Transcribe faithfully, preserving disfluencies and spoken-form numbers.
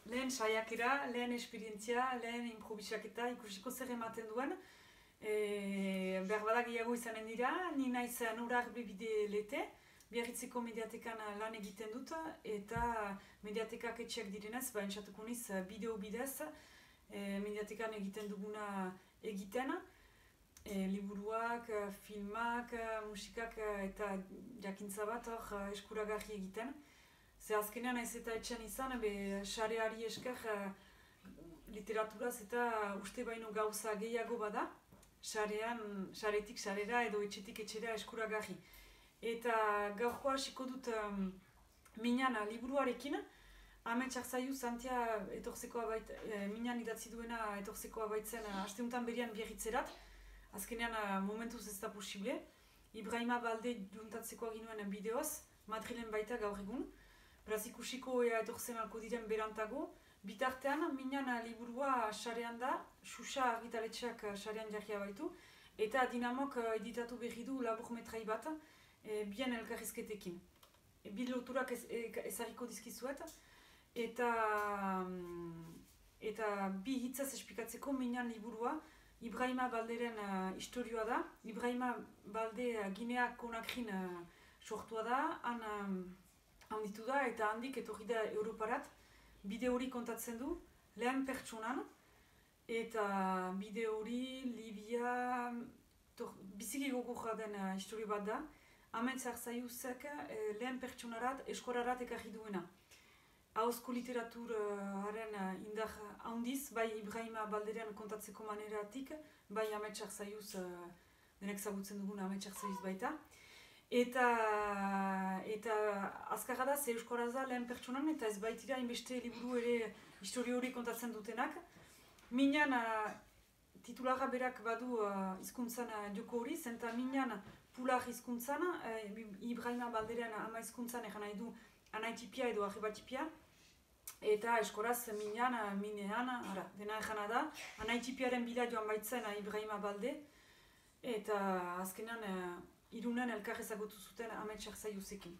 lehen saiakera, lehen esperientzia, lehen improvisaketa ikusiko zer ematen duen. E, behar bada gehiago izanen dira, ni naiz Nurar Bebide Lete, Biarritzeko mediatekan lan egiten dut, eta mediatekak etxeak direnez, ba, entzatuko niz bideo bidez, e, mediatekan egiten duguna egiten, e, liburuak, filmak, musikak eta jakintza bat hor eskuragarri egiten. Ze azkenean ez eta etxean izan, be sareari esker literaturaz eta uste baino gauza gehiago bada, sarean, saretik sarera edo etxetik etxera eskuragarri. Eta gaurkoa hasiko dut um, minan liburuarekin, Ametsak zaiu Santia etorzekoa bait, e, minan idatzi duena etorzekoa baitzen asteuntan berian Biarritzerat, azkenean momentuz ez da posible. Ibrahima Balde juntatzekoa ginuen bideoz, Madrilen baita gaur egun. Beraz ikusiko ea etortzen alko diren berantago. Bitartean, minan liburua sarean da, Xuxa argitaletxeak sarean jarria baitu, eta Dinamok editatu berri du laburmetrai bat, e, bien elkarrizketekin. E, bi loturak ez, e, ezarriko dizkizuet, eta, eta bi hitzaz esplikatzeko minan liburua, Ibrahima Balderen uh, istorioa da. Ibrahima Balde uh, Ginea Konakrin uh, sortua da, han um, handitu da eta handik etorri da Europarat. Bide hori kontatzen du, lehen pertsonan, eta bide hori Libia biziki gogorra den uh, historio bat da. Ametsak zaiuzek uh, lehen pertsonarat, eskorarat ekarri duena. Ahozko literaturaren uh, indar handiz, bai Ibrahima Balderen kontatzeko maneratik, bai Ametsak zaiuz, uh, denek zagutzen dugun Ametsak zaiuz baita. Eta, eta azkarra da, ze euskoraz da lehen pertsonan, eta ez baitira inbeste liburu ere historio hori kontatzen dutenak. Minan uh, titularra berak badu uh, hizkuntzan uh, joko hori, zenta minan pular hizkuntzan, uh, Ibrahima Balderen ama hizkuntzan egan nahi du anaitipia edo arribatipia, eta eskoraz minan, minean, ara, dena egana da, anaitipiaren bila joan baitzen Ibrahima Balde, eta azkenan uh, Irunen elkar ezagutu zuten Ametsak zaiuzekin.